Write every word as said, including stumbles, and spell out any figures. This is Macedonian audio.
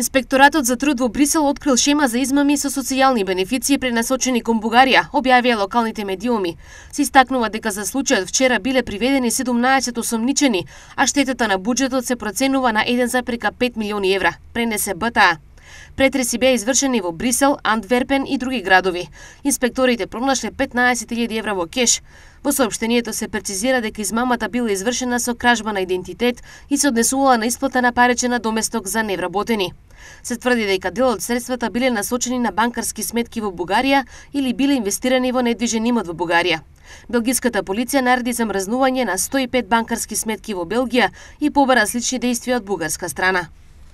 Инспекторатот за труд во Брисел открил шема за измами со социјални бенефиции пренасочени кон Бугарија, објавија локалните медиуми. Се истакнува дека за случајот вчера биле приведени седумнаесет осомничени, а штетата на буџетот се проценува на еден зарез пет милиони евра, пренесе Б Т А. Претреси беа извршени во Брисел, Антверпен и други градови. Инспекторите пронашле петнаесет илјади евра во кеш. Во соопштението се прецизира дека измамата била извршена со кражба на идентитет и се однесувала на исплата на паричен доместок за невработени. Се тврди дека дел од средствата биле насочени на банкарски сметки во Бугарија или биле инвестирани во недвижен имот во Бугарија. Белгиската полиција нареди замрзнување на сто и пет банкарски сметки во Белгија и побара слични дејствија од бугарска страна.